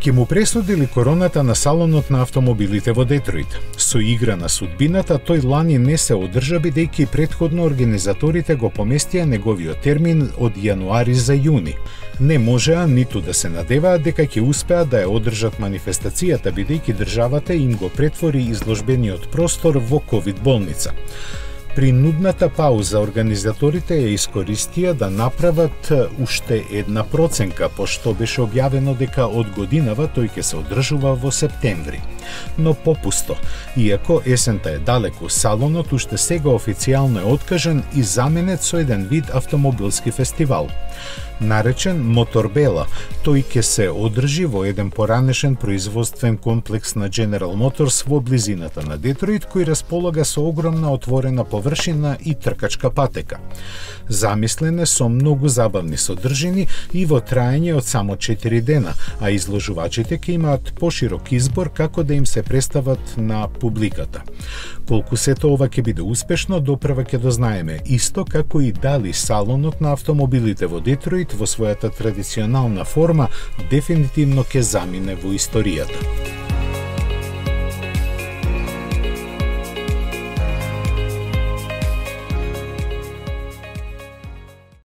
Ке му пресудили короната на салонот на автомобилите во Детройт. Со игра на судбината, тој лани не се одржа бидејќи претходно организаторите го поместија неговиот термин од јануари за јуни. Не можеа ниту да се надеваат дека ќе успеат да ја одржат манифестацијата бидејќи државата им го претвори изложбениот простор во ковид болница. При нудната пауза организаторите ја искористија да направат уште една проценка, пошто беше објавено дека од годинава тој ќе се одржува во септември. Но попусто, иако есента е далеку, салонот уште сега официјално е откажен и заменет со еден вид автомобилски фестивал. Наречен Моторбела, тој ќе се одржи во еден поранешен производствен комплекс на General Motors во близината на Детройт, кој располага со огромна отворена површина и тркачка патека. Замислен е со многу забавни содржини и во траење од само 4 дена, а изложувачите ќе имаат поширок избор како да им се представат на публиката. Колку сето ова ќе биде успешно, допрва ќе дознаеме, исто како и дали салонот на автомобилите во Детройт во својата традиционална форма дефинитивно ќе замине во историјата.